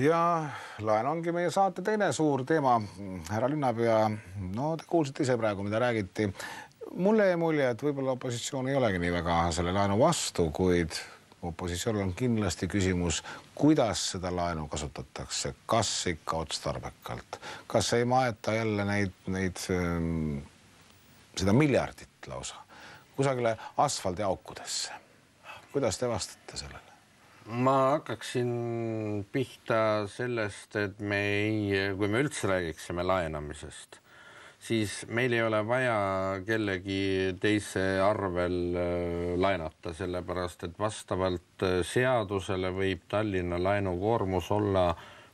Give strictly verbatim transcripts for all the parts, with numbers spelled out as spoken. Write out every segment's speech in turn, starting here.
Ja laen ongi meie saate teine suur teema. Härra linnapea, no te kuulsite ise praegu, mida räägiti. Mulle jäi mulje, et võib-olla opositsioon ei olegi nii väga selle laenu vastu, kuid opositsioonil on kindlasti küsimus, kuidas seda laenu kasutatakse, kas ikka otstarbekalt, kas ei maeta jälle neid, neid, seda miljardit lausa kusagile asfaldiaukudesse. Kuidas te vastate sellele? Ma hakkaksin pihta sellest, et me ei, kui me üldse räägiksime laenamisest, siis meil ei ole vaja kellegi teise arvel laenata, sellepärast, et vastavalt seadusele võib Tallinna laenukoormus olla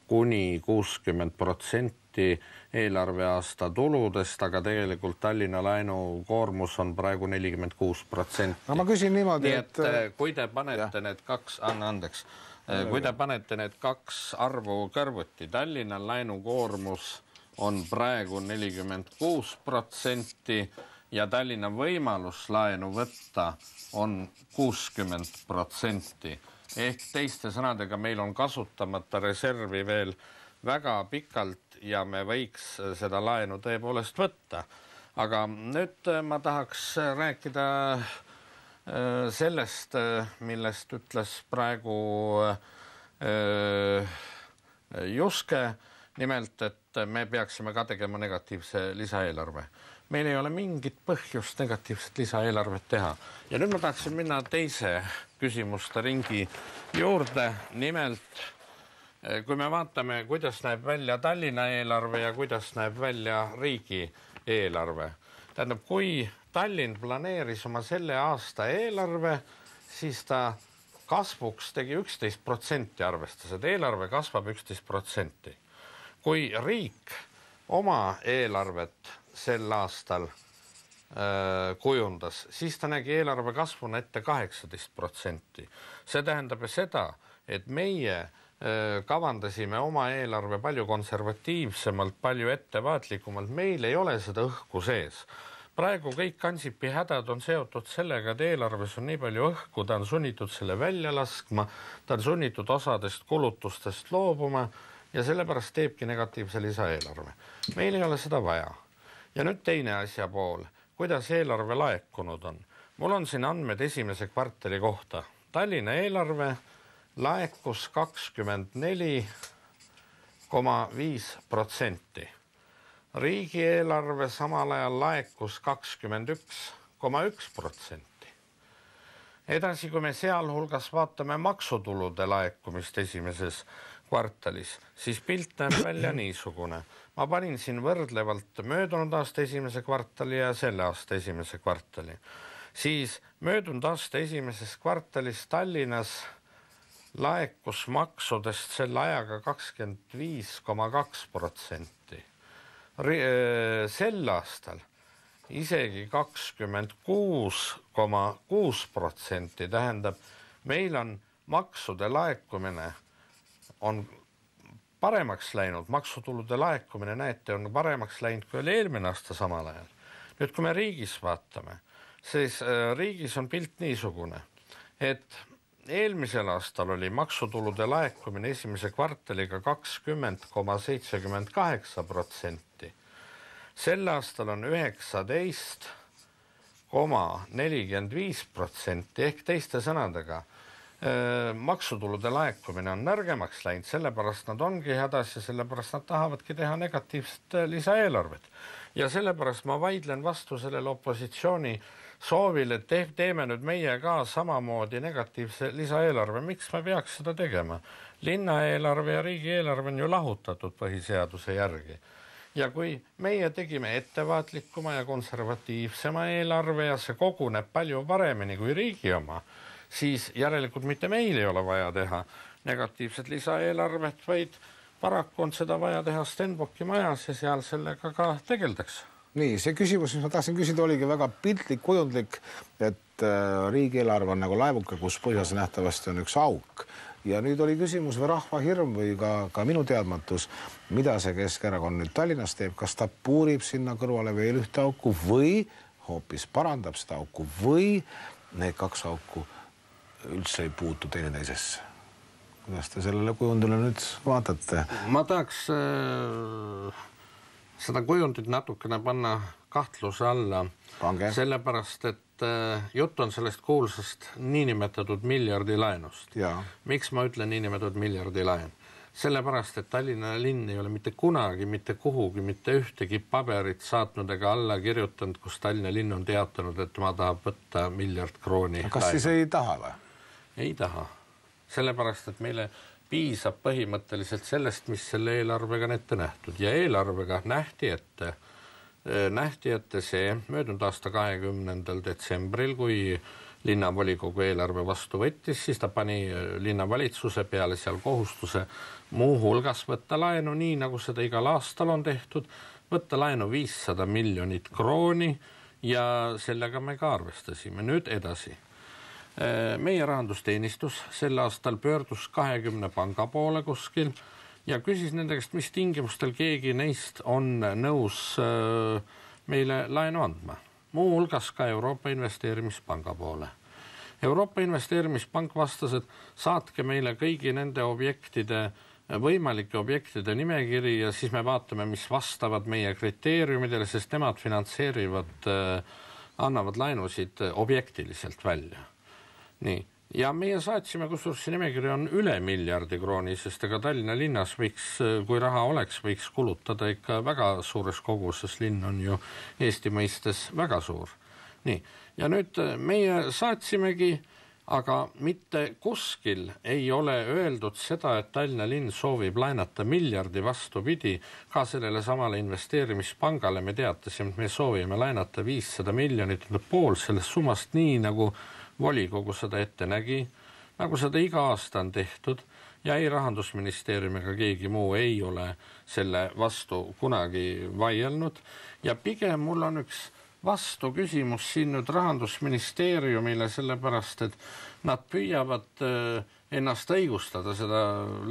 kuni kuuskümmend protsenti eelarveaasta tuludest, aga tegelikult Tallinna laenukoormus on praegu nelikümmend kuus protsenti. No ma küsin niimoodi, et... et kui te panete ja. need kaks, anna andeks, kui te panete need kaks arvu kõrvuti, Tallinna laenukoormus on praegu nelikümmend kuus protsenti ja Tallinna võimalus laenu võtta on kuuskümmend protsenti. Ehk teiste sõnadega meil on kasutamata reservi veel väga pikalt ja me võiks seda laenu tõepoolest võtta. Aga nüüd ma tahaks rääkida sellest, millest ütles praegu Juske, nimelt, et me peaksime ka tegema negatiivse lisaeelarve. Meil ei ole mingit põhjust negatiivset lisaeelarvet teha. Ja nüüd ma tahaksin minna teise küsimuste ringi juurde. Nimelt, kui me vaatame, kuidas näeb välja Tallinna eelarve ja kuidas näeb välja riigi eelarve. Tähendab, kui Tallinn planeeris oma selle aasta eelarve, siis ta kasvuks tegi üksteist protsenti arvestas, et eelarve kasvab üksteist protsenti. Kui riik oma eelarvet sel aastal äh, kujundas, siis ta nägi eelarve kasvuna ette kaheksateist protsenti. See tähendab seda, et meie äh, kavandasime oma eelarve palju konservatiivsemalt, palju ettevaatlikumalt. Meil ei ole seda õhku sees. Praegu kõik Ansipi hädad on seotud sellega, et eelarves on nii palju õhku, ta on sunnitud selle välja laskma, ta on sunnitud osadest kulutustest loobuma ja sellepärast teebki negatiivse lisaeelarve. Meil ei ole seda vaja. Ja nüüd teine asja pool, kuidas eelarve laekunud on. Mul on siin andmed esimese kvartali kohta. Tallinna eelarve laekus kakskümmend neli koma viis protsenti. Riigieelarve samal ajal laekus kakskümmend üks koma üks protsenti. Edasi, kui me sealhulgas vaatame maksutulude laekumist esimeses kvartalis, siis pilt näeb välja niisugune. Ma panin siin võrdlevalt möödunud aasta esimese kvartali ja selle aasta esimese kvartali. Siis möödunud aasta esimeses kvartalis Tallinnas laekus maksudest selle ajaga kakskümmend viis koma kaks protsenti. Sel aastal isegi kakskümmend kuus koma kuus protsenti, tähendab, meil on maksude laekumine on paremaks läinud, maksutulude laekumine, näete, on paremaks läinud kui oli eelmine aasta samal ajal. Nüüd, kui me riigis vaatame, siis riigis on pilt niisugune, et eelmisel aastal oli maksutulude laekumine esimese kvartaliga kakskümmend koma seitsekümmend kaheksa protsenti. Sel aastal on üheksateist koma nelikümmend viis protsenti ehk teiste sõnadega maksutulude laekumine on nõrgemaks läinud, sellepärast nad ongi hädas ja sellepärast nad tahavadki teha negatiivset lisaeelarvet. Ja sellepärast ma vaidlen vastu sellele opositsiooni soovile, et teeme nüüd meie ka samamoodi negatiivse lisaeelarve. Miks me peaks seda tegema? Linnaeelarve ja riigieelarve on ju lahutatud põhiseaduse järgi. Ja kui meie tegime ettevaatlikuma ja konservatiivsema eelarve ja see koguneb palju paremini kui riigi oma, siis järelikult mitte meil ei ole vaja teha negatiivset lisaeelarvet, vaid paraku on seda vaja teha Stenbocki majas ja seal sellega ka tegeldakse. Nii, see küsimus, mis ma tahtsin küsida, oligi väga piltlik, kujundlik, et riigieelarve on nagu laevuke, kus põhjas nähtavasti on üks auk. Ja nüüd oli küsimus või rahva hirm või ka, ka minu teadmatus, mida see Keskerakond nüüd Tallinnas teeb, kas ta puurib sinna kõrvale veel ühte auku või hoopis parandab seda auku või need kaks auku üldse ei puutu teine teisesse. kuidas te sellele kujundile nüüd vaatate? Ma tahaks äh, seda kujundit natukene panna kahtluse alla. Pange. Sellepärast, et äh, jutt on sellest kuulsast niinimetatud miljardi laenust. Ja. Miks ma ütlen niinimetatud miljardi laen? Sellepärast, et Tallinna linn ei ole mitte kunagi, mitte kuhugi, mitte ühtegi paberit saatnud ega alla kirjutanud, kus Tallinna linn on teatanud, et ma tahab võtta miljard krooni. Kas laenu. Siis ei taha või? Ei taha. Sellepärast, et meile piisab põhimõtteliselt sellest, mis selle eelarvega on ette nähtud. Ja eelarvega nähti ette, nähti ette see möödunud aasta kahekümnendal detsembril, kui linnavolikogu eelarve vastu võttis, siis ta pani linnavalitsuse peale seal kohustuse muu hulgas võtta laenu, nii nagu seda igal aastal on tehtud, võtta laenu viissada miljonit krooni ja sellega me ka arvestasime. Nüüd edasi. Meie rahandusteenistus sel aastal pöördus kahekümne panga poole kuskil ja küsis nende käest, mis tingimustel keegi neist on nõus meile laenu andma. Muu hulgas ka Euroopa Investeerimispanga poole. Euroopa Investeerimispank vastas, et saatke meile kõigi nende objektide, võimalike objektide nimekiri ja siis me vaatame, mis vastavad meie kriteeriumidele, sest nemad finantseerivad, annavad laenusid objektiliselt välja. Nii. Ja meie saatsime, kusjuures see nimekiri on üle miljardi krooni, sest ega Tallinna linnas võiks, kui raha oleks, võiks kulutada ikka väga suures koguses. Linn on ju Eesti mõistes väga suur. Nii. Ja nüüd meie saatsimegi, aga mitte kuskil ei ole öeldud seda, et Tallinna linn soovib laenata miljardi vastupidi. Ka sellele samale investeerimispangale me teatasime, et me soovime laenata viissada miljonit pool sellest summast nii, nagu volikogu seda ette nägi, nagu seda iga aasta on tehtud ja ei Rahandusministeerium ega keegi muu ei ole selle vastu kunagi vaielnud. Ja pigem mul on üks vastu küsimus siin nüüd Rahandusministeeriumile, sellepärast, et nad püüavad ennast õigustada, seda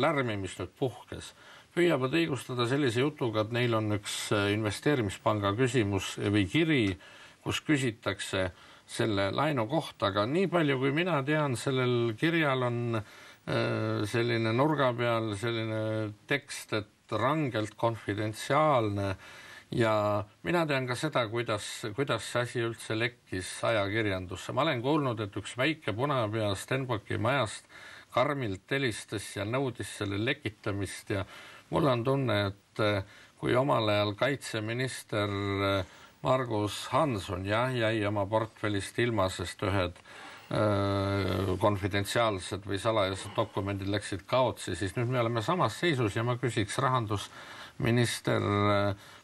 lärmi, mis nüüd puhkes. Püüavad õigustada sellise jutuga, et neil on üks investeerimispanga küsimus või kiri, kus küsitakse selle laenu kohta, aga nii palju kui mina tean, sellel kirjal on selline nurga peal selline tekst, et rangelt konfidentsiaalne ja mina tean ka seda, kuidas, kuidas see asi üldse lekkis ajakirjandusse. Ma olen kuulnud, et üks väike punapea Stenbocki majast karmilt helistas ja nõudis selle lekitamist ja mul on tunne, et kui omal ajal kaitseminister Margus Hanson jah, jäi oma portfellist ilma, sest ühed öö, konfidentsiaalsed või salajased dokumendid läksid kaotsi, siis nüüd me oleme samas seisus ja ma küsiks rahandusminister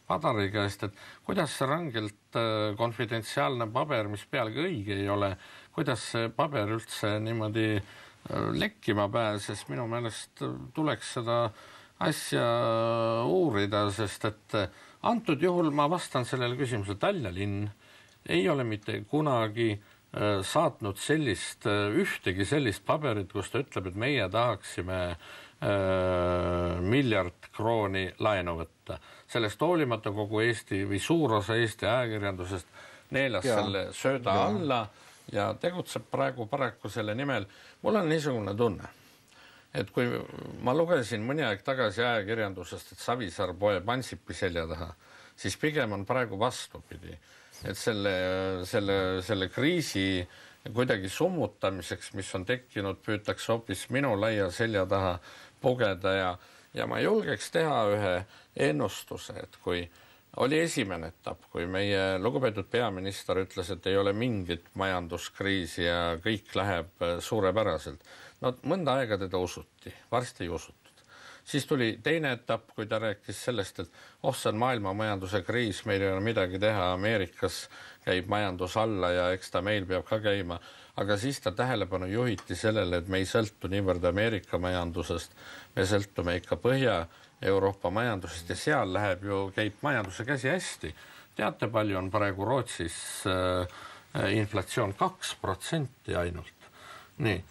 Padari käest, et kuidas see rangelt öö, konfidentsiaalne paber, mis pealegi õige ei ole, kuidas see paber üldse niimoodi öö, lekkima pääses, minu meelest tuleks seda asja uurida, sest et antud juhul ma vastan sellele küsimuse, Tallinna linn ei ole mitte kunagi äh, saatnud sellist, äh, ühtegi sellist paberit, kus ta ütleb, et meie tahaksime äh, miljard krooni laenu võtta. Sellest hoolimata kogu Eesti või suur osa Eesti ajakirjandusest neelas ja. Selle sööda ja. Alla ja tegutseb praegu paraku selle nimel. Mul on niisugune tunne, et kui ma lugesin mõni aeg tagasi ajakirjandusest, et Savisaar poeb Ansipi selja taha, siis pigem on praegu vastupidi. Et selle, selle, selle kriisi kuidagi summutamiseks, mis on tekkinud, püütakse hoopis minu laia selja taha pugeda ja, ja ma julgeks teha ühe ennustuse, et kui oli esimene etapp, kui meie lugupeetud peaminister ütles, et ei ole mingit majanduskriisi ja kõik läheb suurepäraselt. No mõnda aega teda usuti, varsti ei usutud. Siis tuli teine etapp, kui ta rääkis sellest, et oh, see on maailma majanduse kriis, meil ei ole midagi teha, Ameerikas käib majandus alla ja eks ta meil peab ka käima. Aga siis ta tähelepanu juhiti sellele, et me ei sõltu niivõrd Ameerika majandusest, me sõltume ikka Põhja-Euroopa majandusest ja seal läheb ju, käib majanduse käsi hästi. Teate, palju on praegu Rootsis äh, inflatsioon kaks protsenti ainult. Nii.